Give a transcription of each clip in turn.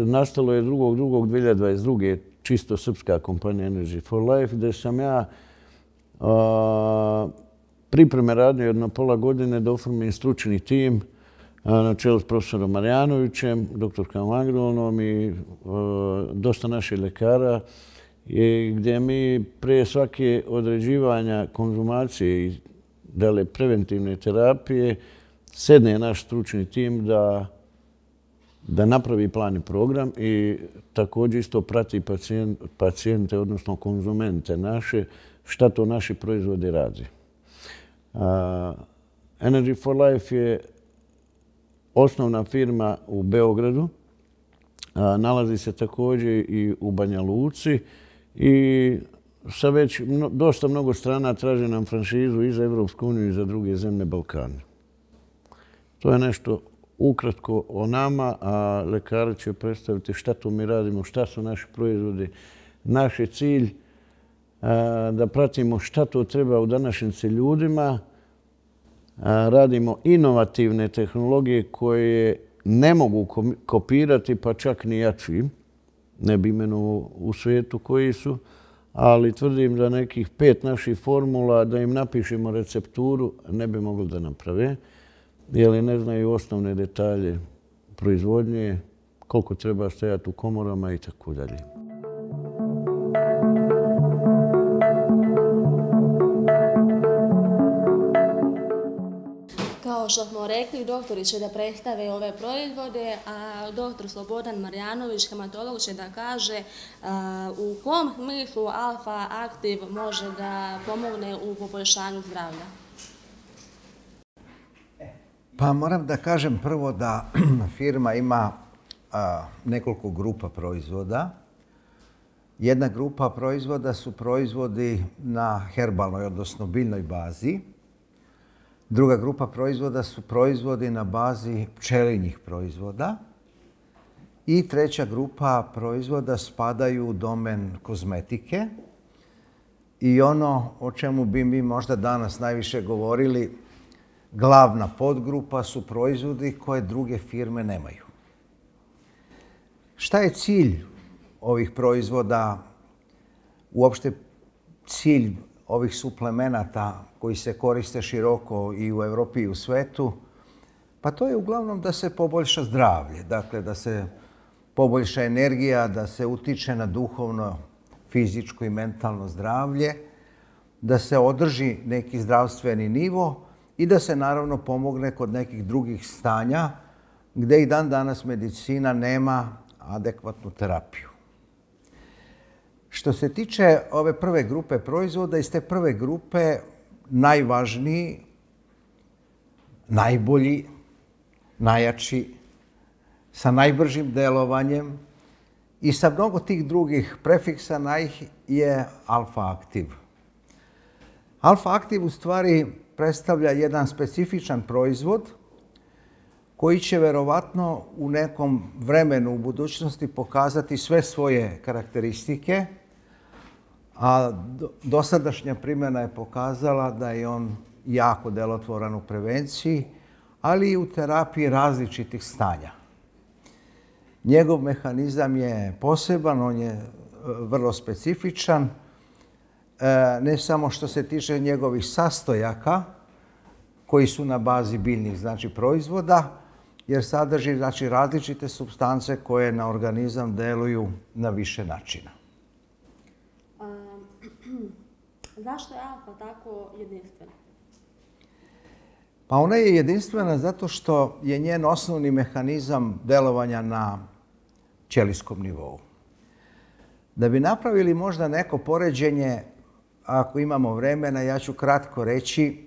nastalo je 2.2.2022. čisto srpska kompanija Energy for Life, gdje sam ja pripreme radio jedno pola godine da oformim stručni tim na čelu s profesorom Marjanovićem, doktorkom Agronom i dosta naših lekara, gdje mi prije svake određivanja konzumacije i preventivne terapije sedne naš stručni tim da napravi plan i program i također isto prati pacijente, odnosno konzumente naše, šta to naši proizvodi radi. Energy for Life je osnovna firma u Beogradu, nalazi se također i u Banja Luci i sa već dosta mnogo strana traže nam franšizu i za Evropsku uniju i za druge zemlje Balkana. To je nešto ukratko o nama, a lekari će predstaviti šta to mi radimo, šta su naši proizvodi. Naš je cilj da pratimo šta to treba u današnjici ljudima. Radimo inovativne tehnologije koje ne mogu kopirati, pa čak ni jači. Ne bi imenovao u svijetu koji su, ali tvrdim da nekih 5 naših formula, da im napišemo recepturu, ne bi mogli da naprave, jer ne znaju osnovne detalje proizvodnje, koliko treba stajati u komorama i tako dalje. Kao što smo rekli, doktori će da predstave ove proizvode, a doktor Slobodan Marjanović, hematolog, će da kaže u kom smislu Alfa Aktiv može da pomogne u poboljšanju zdravlja. Pa moram da kažem prvo da firma ima nekoliko grupa proizvoda. Jedna grupa proizvoda su proizvodi na herbalnoj, odnosno biljnoj bazi. Druga grupa proizvoda su proizvodi na bazi pčelinjih proizvoda. I treća grupa proizvoda spadaju u domen kozmetike. I ono o čemu bi mi možda danas najviše govorili, glavna podgrupa su proizvodi koje druge firme nemaju. Šta je cilj ovih proizvoda, uopšte cilj ovih suplemenata koji se koriste široko i u Evropi i u svetu? Pa to je uglavnom da se poboljša zdravlje, dakle da se poboljša energija, da se utiče na duhovno, fizičko i mentalno zdravlje, da se održi neki zdravstveni nivo i da se naravno pomogne kod nekih drugih stanja gdje i dan danas medicina nema adekvatnu terapiju. Što se tiče ove prve grupe proizvoda, iz te prve grupe najvažniji, najbolji, najjači, sa najbržim delovanjem i sa mnogo tih drugih prefiksa je Alfa Aktiv. Alfa Aktiv u stvari predstavlja jedan specifičan proizvod koji će verovatno u nekom vremenu u budućnosti pokazati sve svoje karakteristike, a dosadašnja primjena je pokazala da je on jako delotvoran u prevenciji, ali i u terapiji različitih stanja. Njegov mehanizam je poseban, on je vrlo specifičan, ne samo što se tiče njegovih sastojaka, koji su na bazi biljnih proizvoda, jer sadrži različite supstance koje na organizam deluju na više načina. Zašto je Alfa tako jedinstvena? Pa ona je jedinstvena zato što je njen osnovni mehanizam delovanja na ćelijskom nivou. Da bi napravili možda neko poređenje, ako imamo vremena, ja ću kratko reći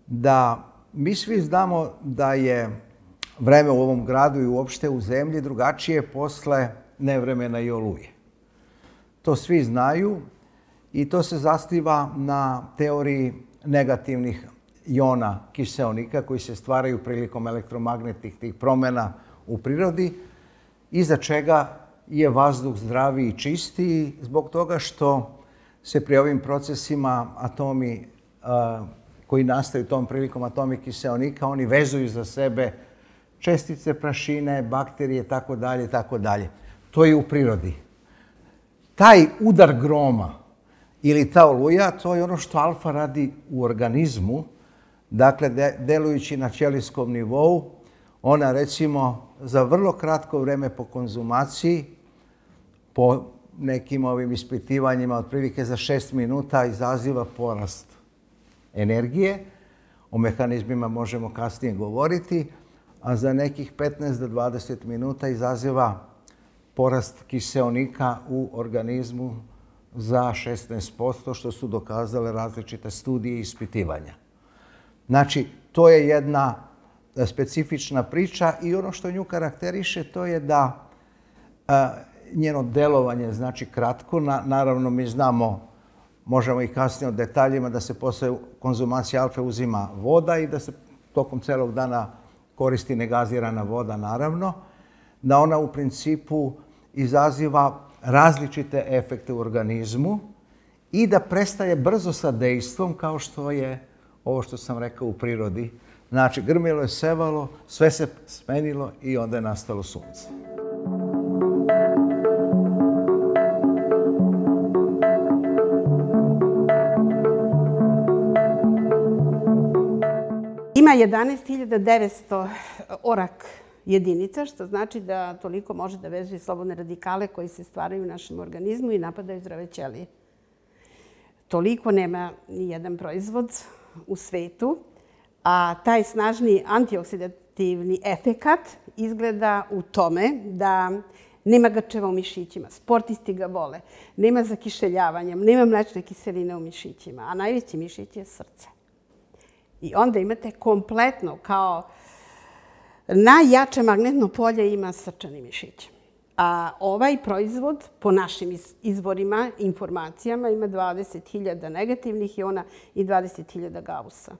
da mi svi znamo da je vreme u ovom gradu i uopšte u zemlji drugačije posle nevremena i oluje. To svi znaju i to se zasniva na teoriji negativnih jona kiseonika koji se stvaraju prilikom elektromagnetnih tih promjena u prirodi, iza čega je vazduh zdraviji i čistiji zbog toga što se pri ovim procesima atomi koji nastaju tom prilikom, atomi kiseonika, oni vezuju za sebe čestice prašine, bakterije, tako dalje, tako dalje. To je u prirodi. Taj udar groma ili ta oluja, to je ono što alfa radi u organizmu, dakle, delujući na ćelijskom nivou, ona, recimo, za vrlo kratko vreme po konzumaciji, po nekim ovim ispitivanjima, otprilike za 6 minuta izaziva porast energije. O mehanizmima možemo kasnije govoriti, a za nekih 15 do 20 minuta izaziva porast kiseonika u organizmu za 16%, što su dokazale različite studije i ispitivanja. Znači, to je jedna specifična priča i ono što nju karakteriše to je da njeno delovanje znači kratko. Naravno, mi znamo, možemo i kasnije o detaljima, da se posle konzumacije alfe uzima voda i da se tokom celog dana koristi negazirana voda, naravno, da ona u principu izaziva različite efekte u organizmu i da prestaje brzo sa dejstvom, kao što je ovo što sam rekao u prirodi. Znači, grmilo je sevalo, sve se smenilo i onda je nastalo sunce. Ima 11.900 orak jedinica, što znači da toliko može da vezuje slobodne radikale koji se stvaraju u našem organizmu i napadaju zdrave ćelije. Toliko nema ni jedan proizvod u svetu, a taj snažni antioksidativni efekat izgleda u tome da nema grčeva u mišićima, sportisti ga vole, nema zakišeljavanja, nema mlečne kiseline u mišićima, a najveći mišić je srce. I onda imate kompletno, kao najjače magnetno polje ima srčani mišić. A ovaj proizvod, po našim izvorima, informacijama, ima 20.000 negativnih iona i 20.000 gausa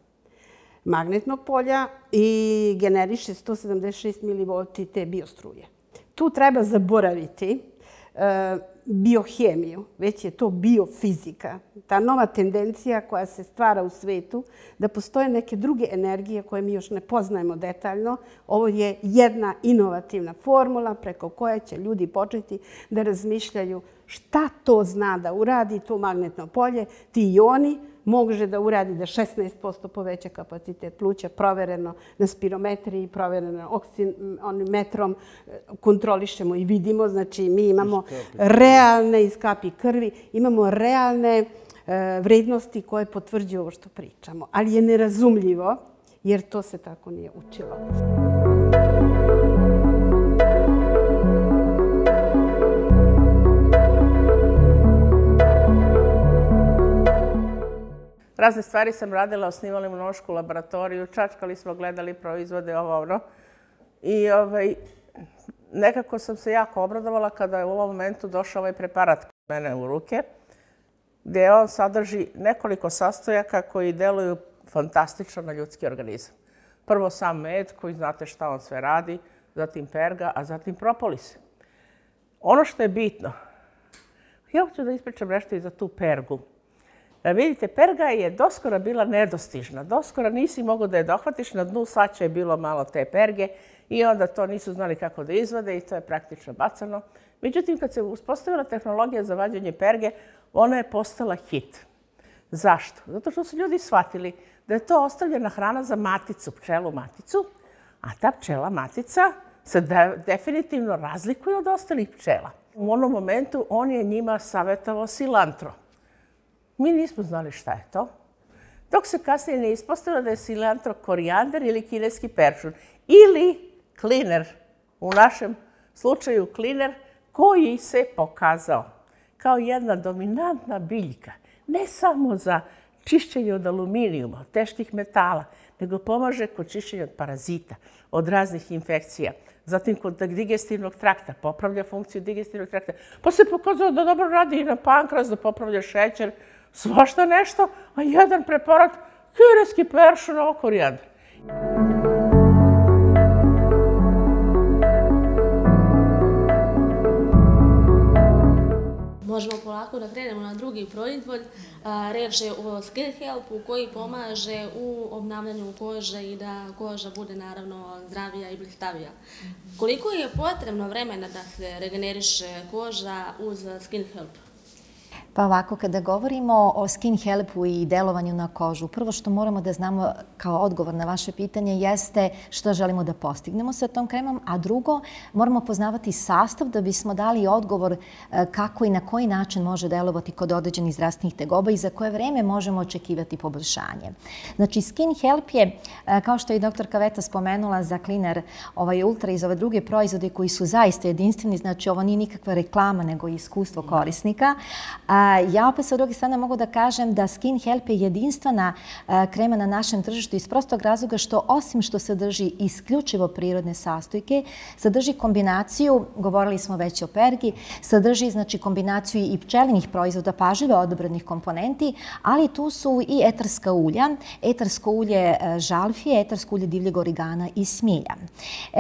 magnetnog polja i generiše 176 mV te biostruje. Tu treba zaboraviti biohemiju, već je to biofizika. Ta nova tendencija koja se stvara u svetu, da postoje neke druge energije koje mi još ne poznajemo detaljno. Ovo je jedna inovativna formula preko koje će ljudi početi da razmišljaju šta to zna da uradi to magnetno polje. Ti ioni može da uradi da 16% poveća kapacitet pluća, provereno na spirometriji, provereno oksimetrom, kontrolišemo i vidimo. Znači, mi imamo realne iz kapi krvi, imamo realne vrednosti koje potvrđuju ovo što pričamo. Ali je nerazumljivo, jer to se tako nije učilo. Razne stvari sam radila, osnivali imunološku laboratoriju, čačkali smo, gledali proizvode, ovo ono. I nekako sam se jako obradovala kada je u ovom momentu došao ovaj preparat kod mene u ruke, gdje on sadrži nekoliko sastojaka koji deluju fantastično na ljudski organizam. Prvo sam med, koji znate šta on sve radi, zatim perga, a zatim propolis. Ono što je bitno, ja hoću da ispričam nešto i za tu pergu. Vidite, perga je doskora bila nedostižna. Doskora nisi mogao da je dohvatiš, na dnu sača je bilo malo te perge i onda to nisu znali kako da izvade i to je praktično bacano. Međutim, kad se uspostavila tehnologija za vađenje perge, ona je postala hit. Zašto? Zato što su ljudi shvatili da je to ostavljena hrana za maticu, pčelu maticu, a ta pčela matica se definitivno razlikuje od ostalih pčela. U onom momentu on je njima savjetovao silantro. Mi nismo znali šta je to, dok se kasnije ne ispostavilo da je silantro korijander ili kineski peršun ili kliner, u našem slučaju kliner, koji se pokazao kao jedna dominantna biljka, ne samo za čišćenje od aluminijuma, od teških metala, nego pomaže kod čišćenja od parazita, od raznih infekcija. Zatim kod digestivnog trakta, popravlja funkciju digestivnog trakta. Pa se pokazao da dobro radi i na pankreas, da popravlja šećer, svašta nešto, a jedan preparat, kineski peršun, ovo korijander. možemo polako da krenemo na drugi proizvod. Reč je o Skin Helpu koji pomaže u obnavljanju kože i da koža bude naravno zdravija i blistavija. Koliko je potrebno vremena da se regeneriše koža uz Skin Help? Pa ovako, kada govorimo o Skin Helpu i delovanju na kožu, prvo što moramo da znamo kao odgovor na vaše pitanje jeste što želimo da postignemo sa tom kremom, a drugo, moramo poznavati sastav da bismo dali odgovor kako i na koji način može delovati kod određenih zdravstvenih tegoba i za koje vreme možemo očekivati poboljšanje. Znači, Skin Help je, kao što je i dr. Kaveta spomenula za Cleaner Ultra i za ove druge proizvode koji su zaista jedinstveni, znači ovo nije nikakva reklama nego iskustvo korisnika. Ja opet sa druge strane mogu da kažem da Skin Help je jedinstvena krema na našem tržištu iz prostog razloga što osim što sadrži isključivo prirodne sastojke, sadrži kombinaciju, govorili smo već o pergi, sadrži znači kombinaciju i pčelinjih proizvoda pažljivo odabranih komponenti, ali tu su i etarska ulja, etarsko ulje žalfije, etarsko ulje divljeg origana i smilja.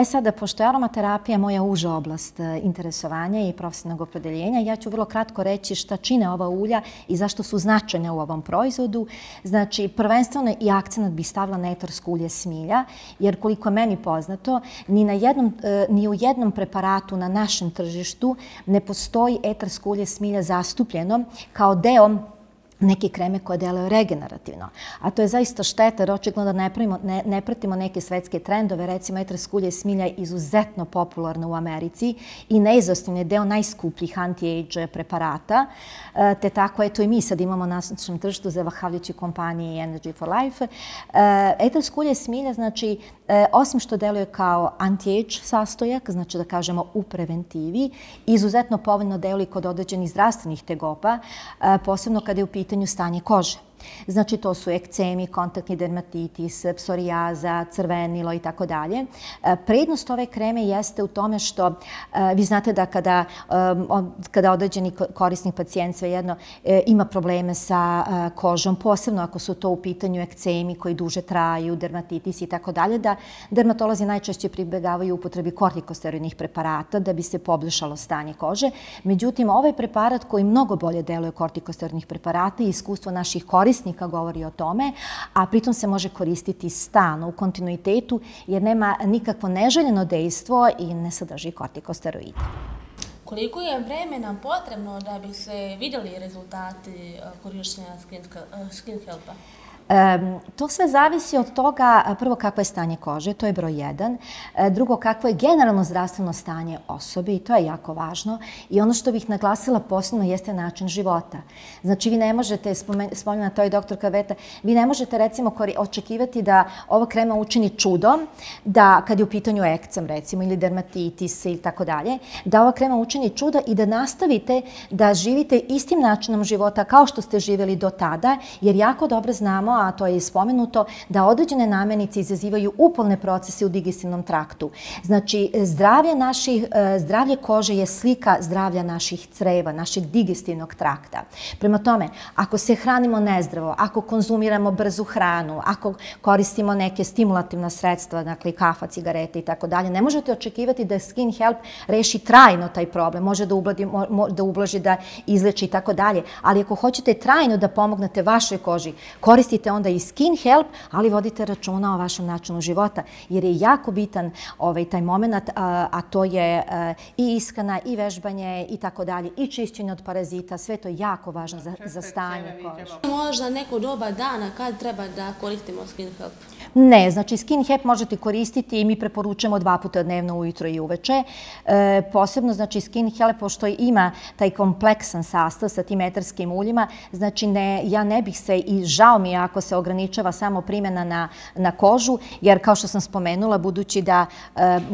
Sada, pošto je aromaterapija moja uža oblast interesovanja i profesionalnog opredeljenja, ja ću vrlo kratko reći šta čine ova ulja i zašto su značajne u ovom proizvodu. Znači, prvenstveno i akcenat bih stavila na etarsko ulje smilja, jer koliko je meni poznato, ni u jednom preparatu na našem tržištu ne postoji etarsko ulje smilja zastupljeno kao deo neke kreme koje deluju regenerativno. A to je zaista šteta jer očigledno da ne pratimo neke svetske trendove. Recimo, etarsko ulje smilja je izuzetno popularno u Americi i neizostavni je deo najskupljih anti-age preparata. Te tako, eto i mi sad imamo na našem tržištu zahvaljujući kompaniji Energy for Life. Etarsko ulje smilja, znači, osim što deluje kao anti-age sastojak, znači da kažemo u preventivi, izuzetno povoljno deluje kod određenih zdravstvenih tegoba, posebno kada je u pitanju stanje kože. Znači, to su ekcemi, kontaktni dermatitis, psorijaza, crvenilo i tako dalje. Prednost ove kreme jeste u tome što vi znate da kada određeni korisnik, pacijent svejedno ima probleme sa kožom, posebno ako su to u pitanju ekcemi koji duže traju, dermatitis i tako dalje, da dermatolozi najčešće pribegavaju upotrebi kortikosteroidnih preparata da bi se poboljšalo stanje kože. Međutim, ovaj preparat koji mnogo bolje deluje kortikosteroidnih preparata i iskustvo naših korisnika govori o tome, a pritom se može koristiti stalno u kontinuitetu jer nema nikakvo neželjeno dejstvo i ne sadrži kortikosteroide. Koliko je vremena potrebno da bi se vidjeli rezultati korištenja Skin Helpa? To sve zavisi od toga, prvo, kakvo je stanje kože, to je broj 1. Drugo, kakvo je generalno zdravstveno stanje osobe i to je jako važno. I ono što bih naglasila posebno jeste način života. Znači, vi ne možete, spominjala to i dr. Kaveta, vi ne možete recimo očekivati da ova krema učini čudo, da kad je u pitanju ekcem recimo ili dermatitis ili tako dalje, da ova krema učini čudo i da nastavite da živite istim načinom života kao što ste živjeli do tada, jer jako dobro znamo, a to je spomenuto, da određene namirnice izazivaju upalne procese u digestivnom traktu. Znači, zdravlje kože je slika zdravlja naših creva, našeg digestivnog trakta. Prema tome, ako se hranimo nezdravo, ako konzumiramo brzu hranu, ako koristimo neke stimulativna sredstva, dakle kafa, cigarete i tako dalje, ne možete očekivati da Skin Help reši trajno taj problem. Može da ublaži, da izleči i tako dalje. Ali ako hoćete trajno da pomognete vašoj koži, koristite onda i Skin Help, ali vodite računa o vašem načinu života, jer je jako bitan taj moment, a to je i ishrana, i vežbanje i tako dalje, i čišćenje od parazita, sve to je jako važno za stanje kože. Možda neko doba dana kad treba da koristimo Skin Help? Ne, znači Skin Help možete koristiti i mi preporučujemo 2 puta dnevno, ujutro i uveče. Posebno, znači Skin Help, pošto ima taj kompleksan sastav sa tim etarskim uljima, znači ja ne bih se, i žao mi je ako se ograničava samo primjena na kožu, jer kao što sam spomenula, budući da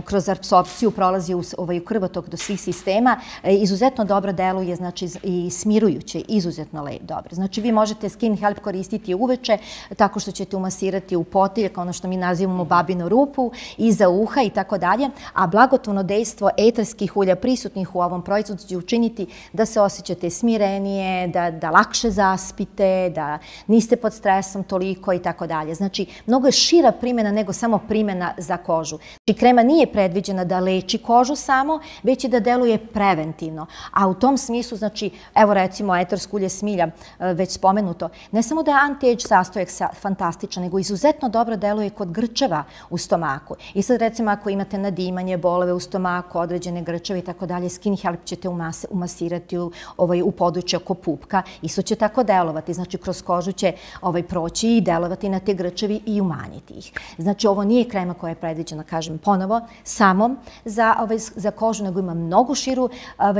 kroz apsorpciju prolazi u krvotok do svih sistema, izuzetno dobro deluje, znači i smirujuće, izuzetno dobro. Znači vi možete Skin Help koristiti uveče tako što ćete umasirati u potiljku potiljka, ono što mi nazivamo babinu rupu, iza uha i tako dalje, a blagotvorno dejstvo eterskih ulja prisutnih u ovom proizvodu će učiniti da se osjećate smirenije, da lakše zaspite, da niste pod stresom toliko i tako dalje. Znači, mnogo je šira primjena nego samo primjena za kožu. Znači, krema nije predviđena da leči kožu samo, već i da deluje preventivno. A u tom smislu, znači, evo recimo etersko ulje smilja, već spomenuto, ne samo da je anti-age sastojak fantastičan, nego izuzetno dobro deluje kod grčeva u stomaku. I sad recimo ako imate nadimanje, bolove u stomaku, određene grčeve i tako dalje, Skin Help ćete umasirati u područje oko pupka. Isto će tako delovati. Znači, kroz kožu će proći i delovati na te grčevi i umanjiti ih. Znači, ovo nije krema koja je predviđena, kažem ponovo, samo za kožu, nego ima mnogo širu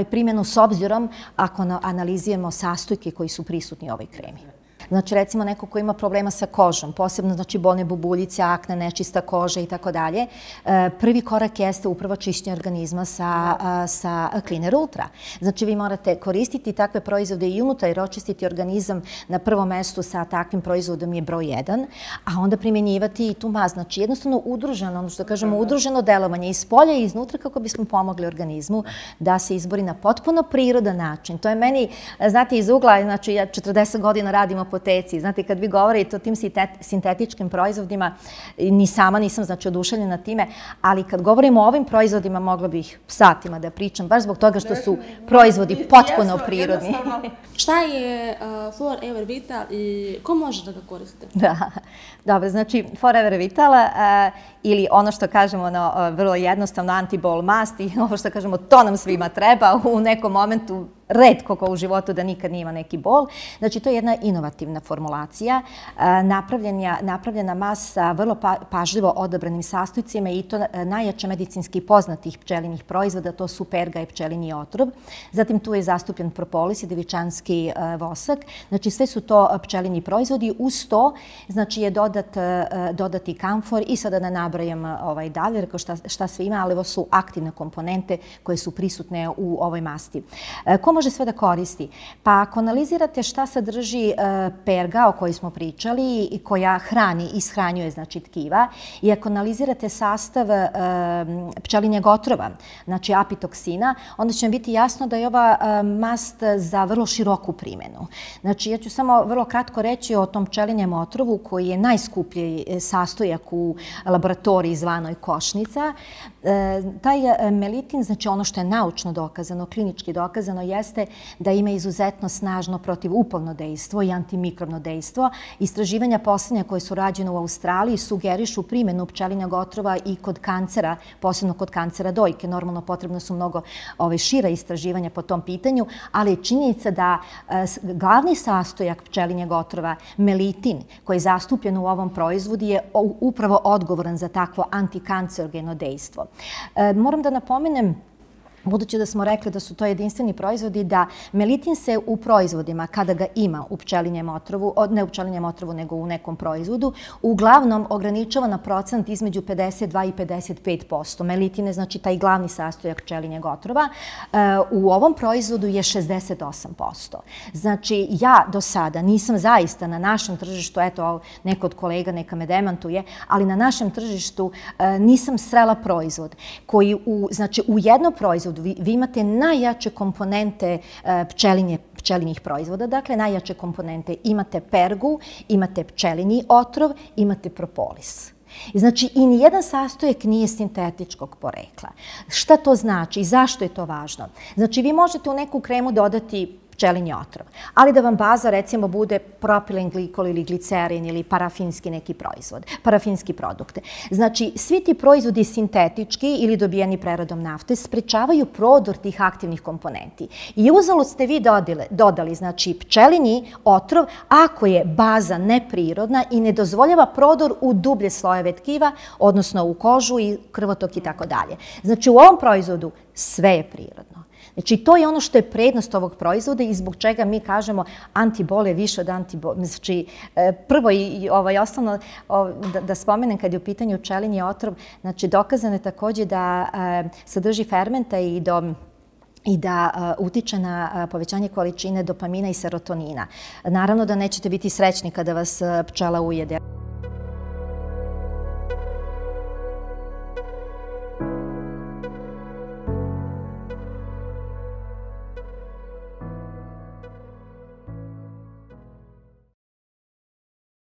primjenu s obzirom ako analiziramo sastojke koji su prisutni u ovoj kremi. Znači, recimo neko ko ima problema sa kožom, posebno znači bolne bubuljice, akne, nečista koža i tako dalje, prvi korak jeste upravo čišćenje organizma sa Cleaner Ultra. Znači, vi morate koristiti takve proizvode i unutar jer očistiti organizam na prvom mestu sa takvim proizvodom je broj 1, a onda primjenjivati i tu mast. Znači, jednostavno udruženo, ono što kažemo, udruženo delovanje iz polja i iznutra kako bismo pomogli organizmu da se izbori na potpuno prirodan način. To je meni, znate, iz ugla, znači ja 40 godina radim apoteci. Znate, kad vi govorite o tim sintetičkim proizvodima, ni sama nisam znači oduševljena time, ali kad govorimo o ovim proizvodima mogla bih satima da pričam, baš zbog toga što su proizvodi potpuno prirodni. Šta je Forever Vital i ko može da ga koriste? Da, dobro, znači Forever Vital ili ono što kažemo vrlo jednostavno anti-bol mast i ovo što kažemo to nam svima treba u nekom momentu retko ko u životu da nikad nije ima neki bol. Znači, to je jedna inovativna formulacija, napravljena mast sa vrlo pažljivo odabranim sastojcima i to najjače medicinski poznatih pčelinjih proizvoda, to su perga i pčelinji otrov. Zatim tu je zastupljen propolis i devičanski vosak. Znači, sve su to pčelinji proizvodi. Uz to, znači, je dodati kamfor i sada da nabrajam dalje, rekao šta sve ima, ali ovo su aktivne komponente koje su prisutne u ovoj masti. Ko može sve da koristi? Pa ako analizirate šta sadrži perga o kojoj smo pričali i koja hrani i ishranjuje znači tkiva i ako analizirate sastav pčelinjeg otrova, znači apitoksina, onda će vam biti jasno da je ova mast za vrlo široku primjenu. Znači, ja ću samo vrlo kratko reći o tom pčelinjem otrovu koji je najskuplji sastojak u laboratoriji zvanoj košnica. Taj melitin, znači ono što je naučno dokazano, klinički dokazano, jeste da ima izuzetno snažno protivupalno dejstvo i antimikrobno dejstvo. Istraživanja posljednja koje su rađene u Australiji sugerišu primjenu pčelinjeg otrova i kod kancera, posebno kod kancera dojke. Normalno potrebno su mnogo šira istraživanja po tom pitanju, ali je činjenica da glavni sastojak pčelinjeg otrova, melitin, koji je zastupljen u ovom proizvodu, je upravo odgovoran za takvo antikancerogeno dejstvo. Moram da napomenem, budući da smo rekli da su to jedinstveni proizvodi, da melitin se u proizvodima, kada ga ima u pčelinjem otrovu, ne u pčelinjem otrovu, nego u nekom proizvodu, uglavnom ograničava na procent između 52 i 55%. Melitin je, znači, taj glavni sastojak pčelinjeg otrova. U ovom proizvodu je 68%. Znači, ja do sada nisam zaista na našem tržištu, eto, neko od kolega neka me demantuje, ali na našem tržištu nisam srela proizvod koji, znači, u jednom proizvodu vi imate najjače komponente pčelinjih proizvoda, dakle najjače komponente. Imate pergu, imate pčelinji otrov, imate propolis. Znači, i nijedan sastojak nije sintetičkog porekla. Šta to znači i zašto je to važno? Znači, vi možete u neku kremu dodati pčelinji otrov, ali da vam baza recimo bude propilen glikol ili glicerin ili parafinski neki proizvod, parafinski produkte. Znači, svi ti proizvodi sintetički ili dobijeni preradom nafte sprečavaju prodor tih aktivnih komponenti. I uzalud ste vi dodali, znači, pčelinji otrov ako je baza neprirodna i ne dozvoljava prodor u dublje slojeve tkiva, odnosno u kožu i krvotok i tako dalje. Znači, u ovom proizvodu sve je prirodno. Znači, to je ono što je prednost ovog proizvoda i zbog čega mi kažemo antibol je više od antibol. Znači, prvo i osnovno da spomenem kad je u pitanju pčelinji otrov, znači, dokazano je također da sadrži fermenta i da utiče na povećanje količine dopamina i serotonina. Naravno da nećete biti srećni kada vas pčela ujede.